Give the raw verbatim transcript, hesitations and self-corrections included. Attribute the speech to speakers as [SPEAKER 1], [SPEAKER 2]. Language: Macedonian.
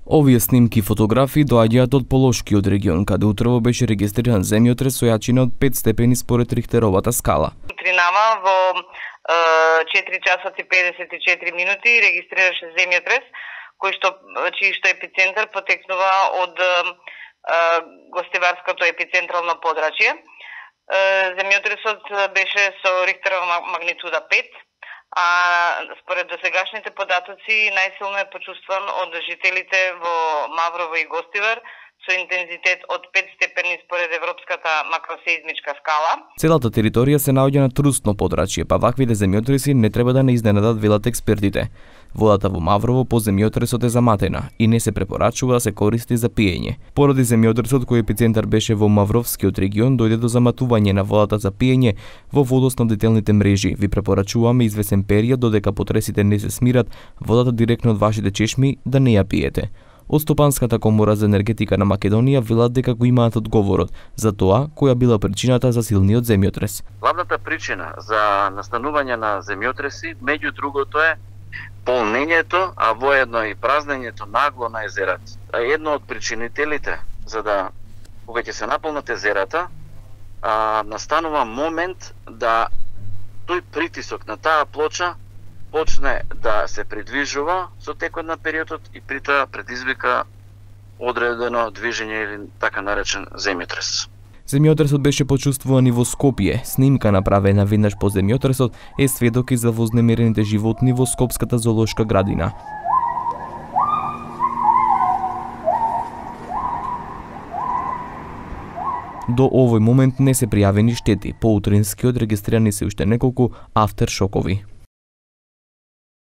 [SPEAKER 1] Овие снимки и фотографии доаѓаат од Полошкиот регион, каде утрово беше регистриран земјотрес со јачина од пет степени според Рихтеровата скала.
[SPEAKER 2] Утринава во четири часа и педесет и четири минути регистрираше земјотрес, кој што чиј што епицентар потекнува од гостиварското епицентрално подрачје. Земјотресот беше со Рихтерова магнитуда пет, а според досегашните податоци најсилно е почувствуван од жителите во Маврово и Гостивар со интензитет од пет степени според Европската макросеизмичка скала.
[SPEAKER 1] Целата територија се наоѓа на трустно подрачје, па ваквите земјотреси не треба да не изненадат, велат експертите. Водата во Маврово по земјотресот е заматена и не се препорачува да се користи за пиење. Поради земјотресот кој епицентар беше во Мавровскиот регион, дојде до заматување на водата за пиење во водоснабдителните мрежи. Ви препорачуваме извесен период додека потресите не се смират, водата директно од вашите чешми да не ја пиете. Од Стопанската комора за енергетика на Македонија велат дека го имаат одговорот за тоа која била причината за силниот земјотрес.
[SPEAKER 3] Главната причина за настанување на земјотреси, меѓу другото, е полнењето, а воедно и празнењето нагло на езерата. А едно од причинителите за да кога ќе се наполнат езерата, а, настанува момент да тој притисок на таа плоча почне да се придвижува со текот на периодот и при тоа предизвика одредено движење или така наречен земјотрес.
[SPEAKER 1] Земјотресот беше почувствуван и во Скопје. Снимка направена веднаш по земјотресот е сведок и за вознемирените животни во Скопската зоолошка градина. До овој момент не се пријавени штети, по утринскиот регистрирани се уште неколку афтершокови.